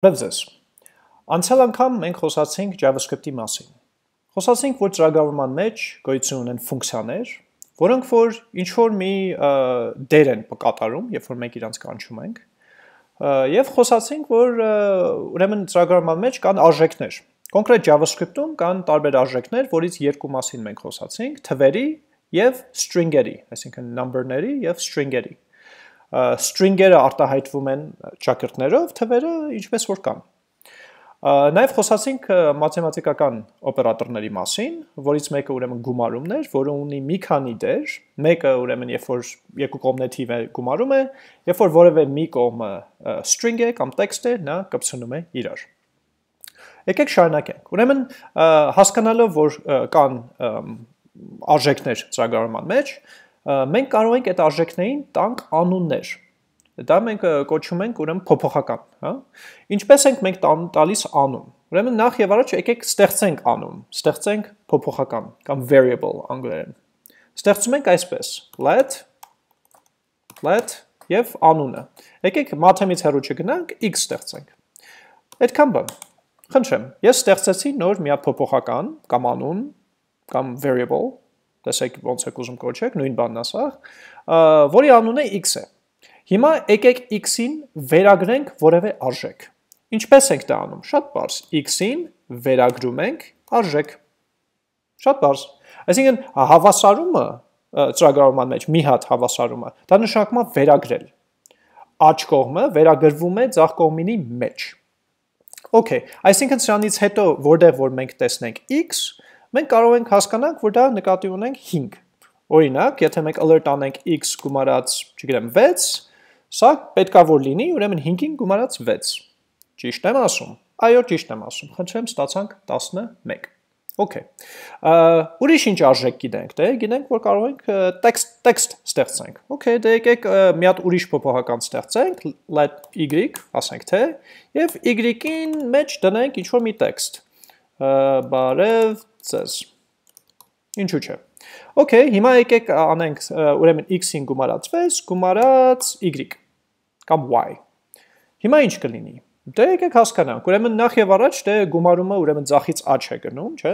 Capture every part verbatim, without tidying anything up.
Բարև ձեզ։ Անցյալ անգամ մենք խոսացինք JavaScript-ի մասին։ Խոսացինք, որ ծրագրավորման մեջ գոյություն ունեն ֆունկցիաներ, որոնք որ ինչ-որ մի դեր են կատարում, երբ որ մենք իրանց կանչում ենք, եւ խոսացինք, որ ուրեմն ծրագրավորման մեջ կան արժեքներ։ Կոնկրետ JavaScript-ում կան տարբեր արժեքներ, որից երկու մասին մենք խոսացինք՝ թվերի եւ string-երի, այսինքն number-ների եւ string-երի։ String-երը արտահայտվում են ճակերտներով, թվերը ինչպես որ կան։ Նաև խոսացինք մաթեմատիկական օպերատորների մասին, որից մեկը ուրեմն գումարումն էր, որը ունի մի քանի դեր, մեկը ուրեմն երբ որ երկու կողմն թիվ է գումարում է, երբ որ որևէ մի կողմը string է կամ text է, նա կպցնում է իրար։ Եկեք շարունակենք։ Ուրեմն հասկանալով, որ կան արժեքներ ծրագրավորման մեջ, մենք կարող ենք այդ արժեքներին տանք անուններ։ Դա մենք կոչում ենք ուրեմն փոփոխական, հա։ Ինչպես ենք մենք տալիս անուն։ Ուրեմն նախ եւ առաջ եկեք ստեղծենք անուն, ստեղծենք փոփոխական կամ variable անգլերեն։ Ստեղծում ենք այսպես. let let եւ անունը։ Եկեք մաթեմից հեռու չգնանք, x ստեղծենք։ Այդքան բան։ Խնդրեմ, ես ստեղծեցի նոր մի հատ փոփոխական կամ անուն կամ variable, տեսեք ոնց եք ուզում կոչեք, նույն բանն է սա, որի անունը x է։ Հիմա եկեք x-ին վերագրենք որևէ արժեք։ Ինչպես ենք դա անում։ Շատ պարզ, x-ին վերագրում ենք արժեք։ Շատ պարզ։ Այսինքն հավասարումը ծրագրավորման մեջ մի հատ հավասարումը, դա նշանակում է վերագրել։ Աջ կողմը վերագրվում է ձախ կողմինի մեջ։ Okay, այսինքն սրանից հետո որտեղ որ մենք տեսնենք x, մենք կարող ենք հասկանանք, որ դա նկատի ունենք հինգ։ Օրինակ, եթե մենք alert անենք x գումարած, չգիտեմ, վեց, սա պետքա որ լինի, ուրեմն հինգին գումարած վեց։ Ճիշտ եմ ասում։ Այո, ճիշտ եմ ասում։ Խնդրեմ, ստացանք տասնմեկ։ Okay։ Ուրիշ ինչ արժեք գիտենք, դե գիտենք, որ կարող ենք text text ստեղծենք։ Okay, դե եկեք մի հատ ուրիշ փոփոխական ստեղծենք, let y, ասենք թե, եւ y-ին մեջ դնենք ինչ որ մի text։ Բարև ձեզ։ Ինչու՞ չէ։ Okay, հիմա եկեք անենք ուրեմն x-ին գումարած վեց, գումարած y կամ y։ Հիմա ինչ կլինի։ Դե եկեք հասկանանք, ուրեմն նախ եւ առաջ դե գումարումը ուրեմն ձախից աջ է գնում, չէ՞։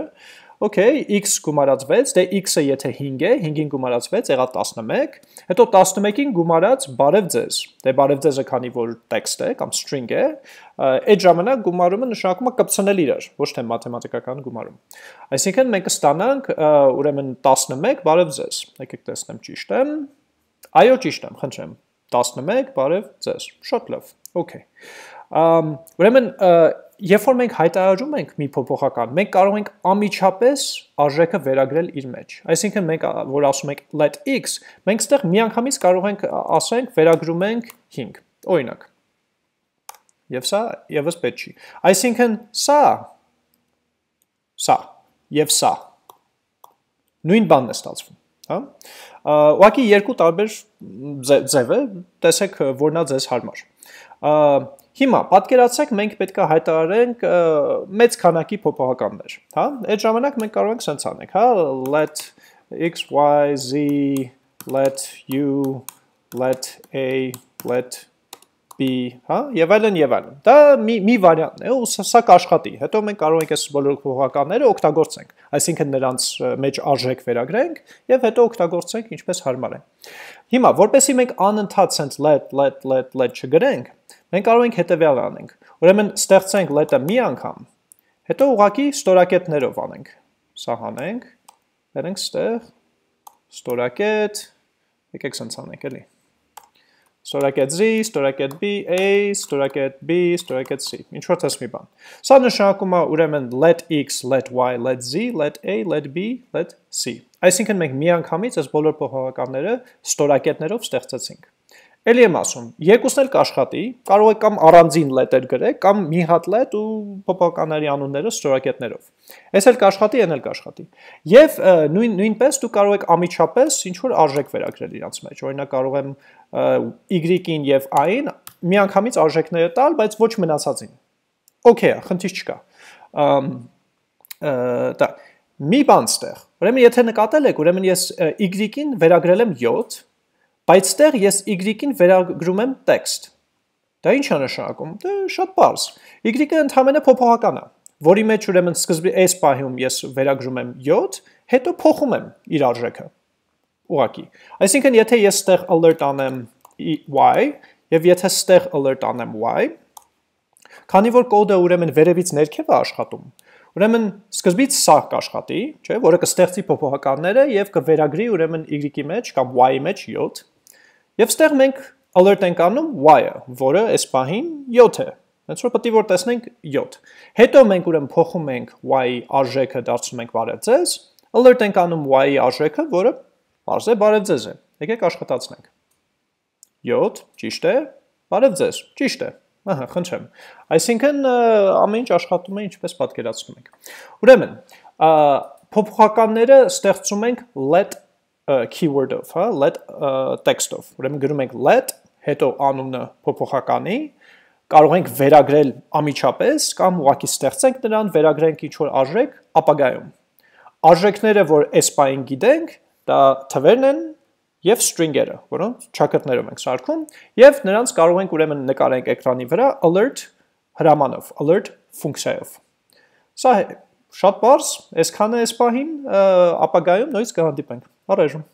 Okay, x գումարած վեց, դե x-ը եթե հինգ է, հինգին գումարած վեց եղավ տասնմեկ, հետո տասնմեկին գումարած բարև ձեզ։ Դե բարև ձեզը քանի որ text է կամ string է, այդ ժամանակ գումարումը նշանակում է կպցնել իրար, ոչ թե մաթեմատիկական գումարում։ Այսինքն մենք կստանանք ուրեմն տասնմեկ բարև ձեզ։ Եկեք տեսնեմ ճիշտ եմ։ Այո, ճիշտ եմ, խնդրեմ։ տասնմեկ բարև ձեզ։ Շատ լավ։ Okay։ Ուրեմն երբ որ մենք հայտարարում ենք մի փոփոխական, մենք կարող ենք անմիջապես արժեքը վերագրել իր մեջ։ Այսինքն մենք որ ասում ենք let x, մենք ստեղ միանգամից կարող ենք ասենք վերագրում ենք հինգ։ Օրինակ։ Եվ սա եւս պետք չի։ Այսինքն սա սա եւ սա նույն բանն է ստացվում, հա։ Ուղղակի երկու տարբեր ձև է, տեսեք որն է ձեզ հարմար։ Հիմա պատկերացրեք մենք պետք է հայտարարենք մեծ քանակի փոփոխականներ, հա։ Այդ ժամանակ մենք կարող ենք սենց անենք, հա, let x, y, z, let u, let a, let b, հա, եւ այլն եւ այլն։ Դա մի մի վարիանտ է, ու սա կաշխատի։ Հետո մենք կարող ենք այս բոլոր փոփոխականները օգտագործենք, այսինքն նրանց մեջ արժեք վերագրենք եւ հետո օգտագործենք ինչպես հարմար է։ Հիմա, որպեսզի մենք անընդհատ սենց let, let, let, let չգրենք, մենք կարող ենք հետևյալը անենք։ Ուրեմն ստեղծենք let-ը մի անգամ, հետո ուղղակի ստորակետներով անենք։ Սա հանենք, բերենք ստեղ, ստորակետ, եկեք սենց անենք էլի։ Ստորակետ z, ստորակետ b, a, ստորակետ b, ստորակետ c։ Ինչ որ տես մի բան։ Սա նշանակում է ուրեմն let x, let y, let z, let a, let b, let c։ Այսինքն մենք միանգամից այս բոլոր փոփոխականները ստորակետներով ստեղծեցինք։ Էլի եմ ասում, երկուսն էլ կաշխատի, կարող եք կամ առանձին let-եր գրեք, կամ մի հատ let ու փոփոխականների անունները ստորակետներով։ Այս էլ կաշխատի, այն էլ կաշխատի։ Եվ նույն նույնպես դու կարող եք ամիջապես ինչ որ արժեք վերագրել իրանց մեջ։ Օրինակ կարող եմ y-ին եւ i-ին միանգամից արժեքները տալ, բայց ոչ մնացածին։ Okay, խնդիր չկա։ Դա մի բան ստեղ։ Ուրեմն եթե նկատել եք, ուրեմն ես y-ին վերագրել եմ յոթ, բայց ստեղ ես y-ին վերագրում եմ text։ Դա ինչ է նշանակում։ Դե շատ պարզ։ Y-ը ընդհանրապես փոփոխական է, որի մեջ ուրեմն սկզբի այս պահում ես վերագրում եմ յոթ, հետո փոխում եմ իր արժեքը։ Ուղղակի։ Այսինքն, եթե ես ստեղ alert անեմ y, եւ եթե ստեղ alert անեմ y, քանի որ կոդը ուրեմն վերևից ներքև է աշխատում, ուրեմն սկզբից սա կաշխատի, չէ, որը կստեղծի փոփոխականները եւ կվերագրի ուրեմն y-ի մեջ կամ y-ի մեջ յոթ, եւ ստեղ մենք alert ենք անում y-ը, որը այս պահին յոթ է։ Հենց որ պետք է որ տեսնենք յոթ։ Հետո մենք ուրեմն փոխում ենք y-ի արժեքը դարձնում ենք բարև ձեզ, alert ենք անում y-ի արժեքը, որը բարձ է բարև ձեզ է։ Եկեք աշխատացնենք։ յոթ, ճիշտ է, բարև ձեզ, ճիշտ է։ Ահա, խնդրեմ։ Այսինքն ամեն ինչ աշխատում է ինչպես պատկերացնում ենք։ Ուրեմն, փոփոխականները ստեղծում ենք let keyword-ով, հա, let text-ով։ Ուրեմն գրում ենք let, հետո անունը փոփոխականի, կարող ենք վերագրել ամիջապես կամ ուղղակի ստեղծենք նրան, վերագրենք ինչ-որ արժեք ապագայում։ Արժեքները, որ այս պահին գիտենք, դա թվերն են եւ string-երը, որոնց ճակատներով ենք սարքում, եւ նրանց կարող ենք ուրեմն նկարենք էկրանի վրա alert հրամանով, alert ֆունկցիայով։ Սա շատ բարձ, այսքանը այս պահին ապագայում նույնիսկ կհանդիպենք։ Առայժմ